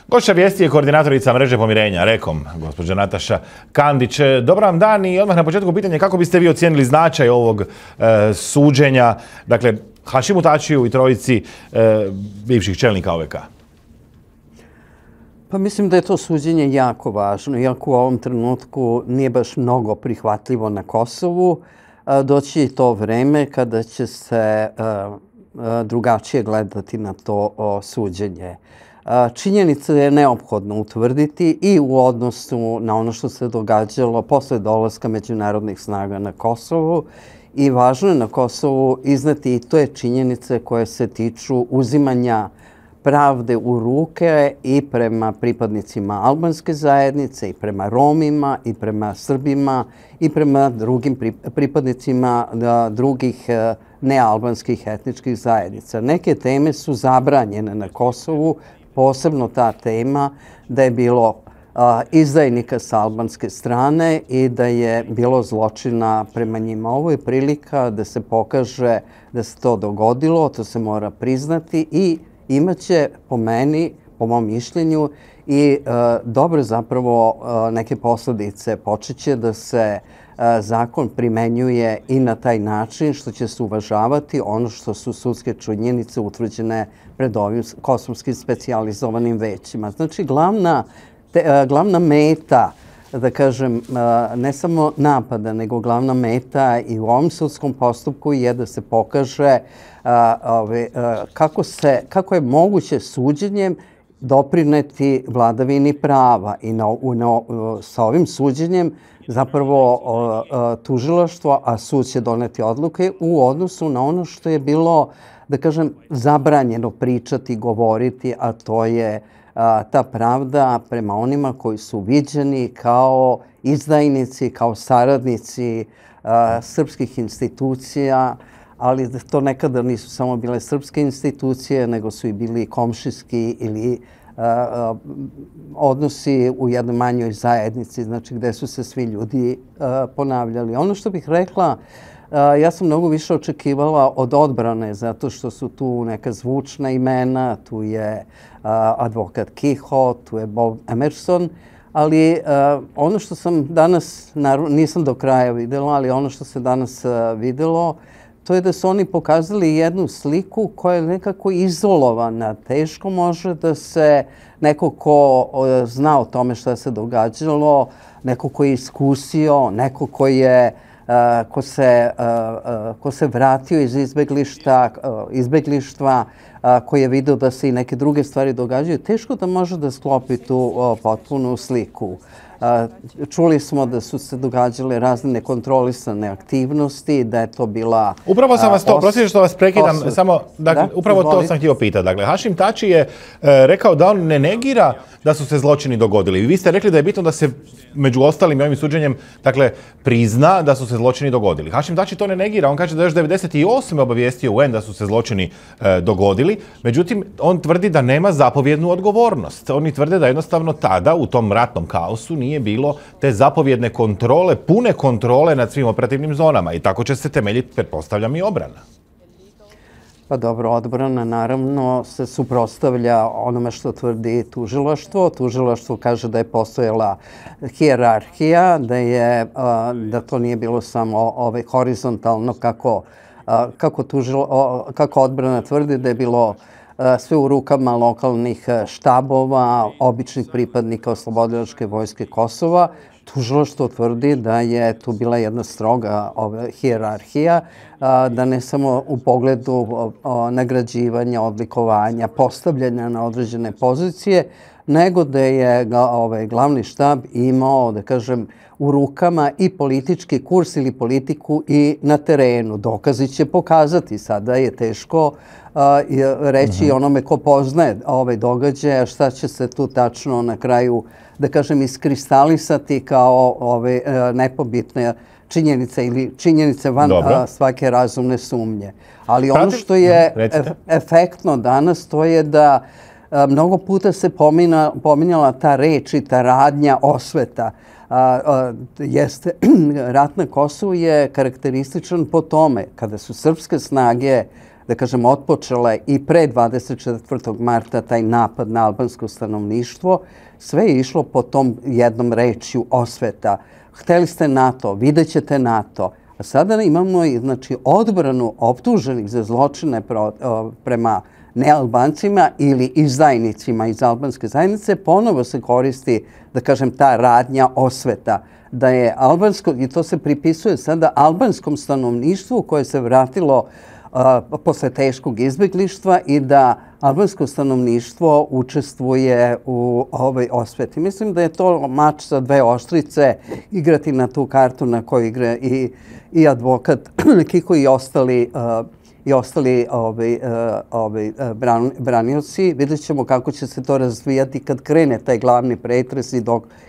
Gošća vijesti je koordinatorica mreže pomirenja, Rekom, gospođa Nataša Kandić. Dobar vam dan i odmah na početku pitanje kako biste vi ocijenili značaj ovog suđenja, dakle, Hašimu Tačiju i trojici bivših čelnika OVK? Pa mislim da je to suđenje jako važno, iako u ovom trenutku nije baš mnogo prihvatljivo na Kosovu. Doći je to vreme kada će se drugačije gledati na to suđenje. Činjenice je neophodno utvrditi i u odnosu na ono što se događalo posle dolaska međunarodnih snaga na Kosovu i važno je na Kosovu izneti i to je činjenice koje se tiču uzimanja pravde u ruke i prema pripadnicima albanske zajednice, i prema Romima, i prema Srbima, i prema drugim pripadnicima drugih nealbanskih etničkih zajednica. Neke teme su zabranjene na Kosovu, posebno ta tema da je bilo izdajnika sa albanske strane i da je bilo zločina prema njima. Ovo je prilika da se pokaže da se to dogodilo, to se mora priznati i imaće, po meni, po mom mišljenju, i dobre zapravo neke posljedice. Počeće da se zakon primenjuje i na taj način što će se uvažavati ono što su sudske činjenice utvrđene pred ovim kosovskim specijalizovanim većima. Znači, glavna meta, da kažem, ne samo napada, nego glavna meta i u ovom sudskom postupku je da se pokaže kako je moguće suđenjem doprineti vladavini prava. I sa ovim suđenjem zapravo tužilaštvo, a sud će doneti odluke u odnosu na ono što je bilo, da kažem, zabranjeno pričati, govoriti, a to je ta pravda prema onima koji su viđeni kao izdajnici, kao saradnici srpskih institucija, ali to nekada nisu samo bile srpske institucije, nego su i bili komšijski ili odnosi u jednoj manjoj zajednici, znači gde su se svi ljudi ponavljali. Ono što bih rekla, ja sam mnogo više očekivala od odbrane, zato što su tu neka zvučna imena, tu je advokat Kiho, tu je Bob Emerson, ali ono što sam danas, nisam do kraja videla, ali ono što se danas videlo, to je da su oni pokazali jednu sliku koja je nekako izolovana. Teško može da se neko ko zna o tome šta se događalo, neko ko je iskusio, neko ko se vratio iz izbeglištva, koji je vidio da se i neke druge stvari događaju, teško da može da sklopi tu potpunu sliku. Čuli smo da su se događale razne nekontrolisane aktivnosti, da je to bila... Upravo sam vas to, prosite što vas prekidam, samo, dakle, upravo to sam htio pitati. Dakle, Hašim Tači je rekao da on ne negira da su se zločini dogodili. Vi ste rekli da je bitno da se, među ostalim i ovim suđenjem, dakle, prizna da su se zločini dogodili. Hašim Tači to ne negira, on kaže da još 1998. obavijestio UN da su se zločini dogodili, međutim, on tvrdi da nema zapovjednu odgovornost. Oni tvrde da jednostavno tada, u tom ratnom kaosu, nije bilo te zapovjedne kontrole, pune kontrole nad svim operativnim zonama i tako će se temeljiti, pretpostavljam, i obrana. Pa dobro, odbrana naravno se suprotstavlja onome što tvrdi tužilaštvo. Tužilaštvo kaže da je postojala hijerarhija, da to nije bilo samo horizontalno kako odbrana tvrdi, da je bilo sve u rukama lokalnih štabova, običnih pripadnika Oslobodilačke vojske Kosova. Tužilaštvo tvrdi da je tu bila jedna stroga hijerarhija, da ne samo u pogledu nagrađivanja, odlikovanja, postavljanja na određene pozicije, nego da je glavni štab imao, da kažem, u rukama i politički kurs ili politiku i na terenu. Dokazi će pokazati. Sada je teško reći onome ko poznaje ove događaje, šta će se tu tačno na kraju, da kažem, iskristalisati kao ove nepobitne činjenice ili činjenice van svake razumne sumnje. Ali ono što je efektno danas, to je da mnogo puta se pominjala ta reč i ta radnja osveta. Rat na Kosovu je karakterističan po tome kada su srpske snage da kažem, otpočele i pre 24. marta taj napad na albansko stanovništvo, sve je išlo po tom jednom rečju osveta. Hteli ste NATO, vidjet ćete NATO. A sada imamo znači, odbranu optuženih za zločine prema nealbancima ili izdajnicima iz albanske zajednice. Ponovo se koristi, da kažem, ta radnja osveta. Da je albansko, i to se pripisuje sada albanskom stanovništvu koje se vratilo posle teškog izbjeglištva i da albansko stanovništvo učestvuje u ovoj osveti. Mislim da je to mač sa dve oštrice, igrati na tu kartu na kojoj igra i advokat Kiko i ostali branioci. Vidjet ćemo kako će se to razvijati kad krene taj glavni pretres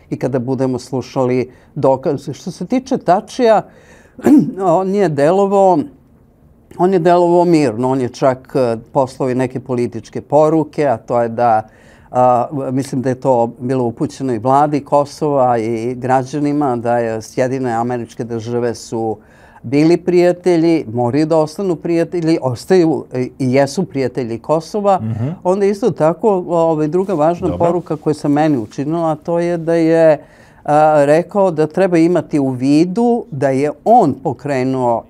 i kada budemo slušali dokaze. Što se tiče Tačija, on je delovao mirno, on je čak poslao i neke političke poruke, a to je da, mislim da je to bilo upućeno i vladi Kosova i građanima, da je Sjedinjene Američke Države su bili prijatelji, moraju da ostanu prijatelji, ostaju i jesu prijatelji Kosova. Onda isto tako druga važna poruka koja se meni učinila, to je da je rekao da treba imati u vidu da je on pokrenuo,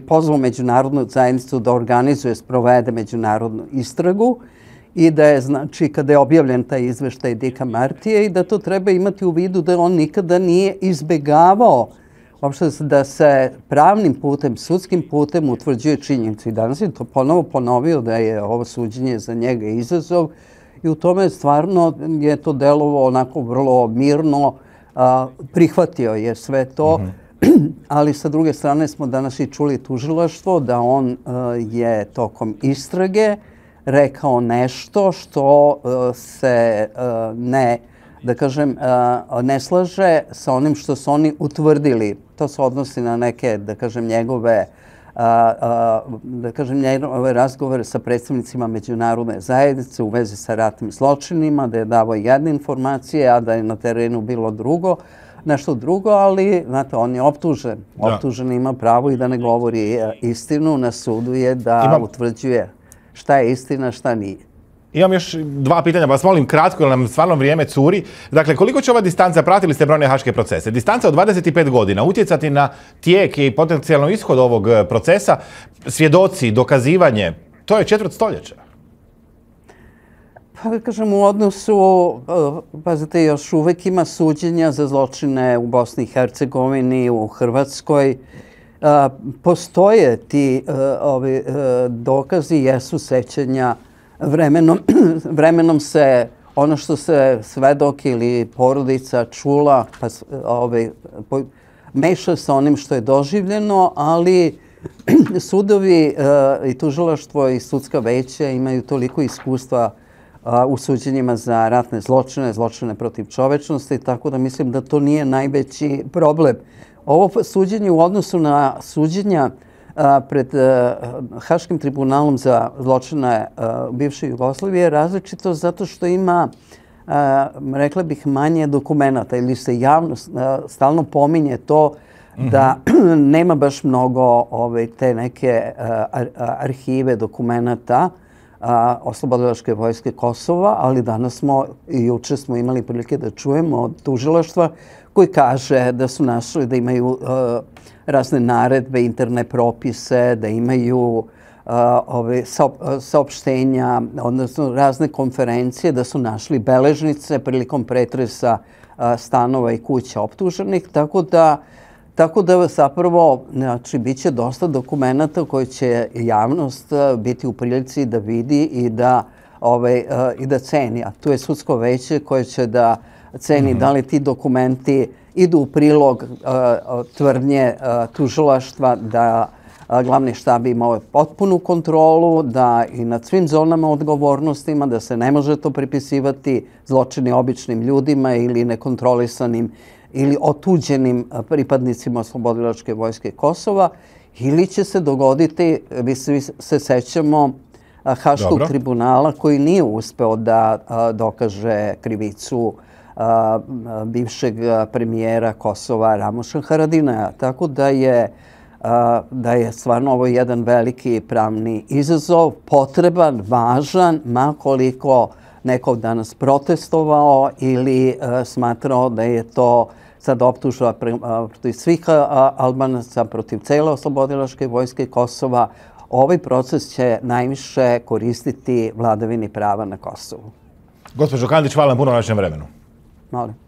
pozvao međunarodnu zajednicu da organizuje, sprovede međunarodnu istragu i da je, znači, kada je objavljen taj izveštaj Dicka Martija i da to treba imati u vidu da on nikada nije izbegavao uopšte da se pravnim putem, sudskim putem utvrđuje činjenicu. I danas je to ponovo ponovio da je ovo suđenje za njega izazov i u tome stvarno je to delovo onako vrlo mirno, prihvatio je sve to, ali sa druge strane smo danas i čuli tužilaštvo da on je tokom istrage rekao nešto što se ne slaže sa onim što su oni utvrdili. To se odnosi na neke, njegove razgovore sa predstavnicima međunarodne zajednice u vezi sa ratnim zločinima, da je davao jedne informacije, a da je na terenu bilo nešto drugo, ali, znate, on je optužen. Optužen ima pravo i da ne govori istinu, na sudu je da utvrđuje šta je istina, šta nije. Imam još dva pitanja, pa vas molim kratko, jer nam stvarno vrijeme curi. Dakle, koliko će ova distanca, pratili ste brojne haške procese, distanca od 25 godina utjecati na tijek i potencijalno ishod ovog procesa, svjedoci, dokazivanje, to je četvrt stoljeća. Pa da kažem, u odnosu, pazite, još uvek ima suđenja za zločine u Bosni i Hercegovini, u Hrvatskoj. Postoje ti dokazi, jesu sećanja. Vremenom se ono što se svedok ili porodica čula meša sa onim što je doživljeno, ali sudovi i tužilaštvo i sudska veća imaju toliko iskustva u suđenjima za ratne zločine, zločine protiv čovečnosti, tako da mislim da to nije najveći problem. Ovo suđenje u odnosu na suđenja pred Haškim tribunalom za zločine bivše Jugoslavije je različito zato što ima, rekla bih, manje dokumenata ili se javno stalno pominje to da nema baš mnogo te neke arhive dokumenata Oslobodilačke vojske Kosova, ali danas smo i juče smo imali prilike da čujemo od tužilaštva koji kaže da su našli da imaju razne naredbe, interne propise, da imaju saopštenja, odnosno razne konferencije, da su našli beležnice prilikom pretresa stanova i kuća optuženih, tako da zapravo, znači, bit će dosta dokumenata koje će javnost biti u prilici da vidi i da ceni. A tu je sudsko veće koje će da ceni da li ti dokumenti idu u prilog tvrdnje tužilaštva da glavni štab imao potpunu kontrolu, da i nad svim zonama odgovornostima, da se ne može to pripisivati zločini običnim ljudima ili nekontrolisanim ili otuđenim pripadnicima Oslobodilačke vojske Kosova, ili će se dogoditi, mi se sećamo Haškog tribunala koji nije uspeo da dokaže krivicu bivšeg premijera Kosova Ramoša Haradinaja. Tako da je da je stvarno ovo jedan veliki pravni izazov, potreban, važan, makoliko neko danas protestovao ili smatrao da je to sad optužba protiv svih Albanaca, protiv cele oslobodilačke vojske Kosova. Ovaj proces će najviše koristiti vladavini prava na Kosovu. Gospođo Kandić, hvala vam puno na vašem vremenu. Molim.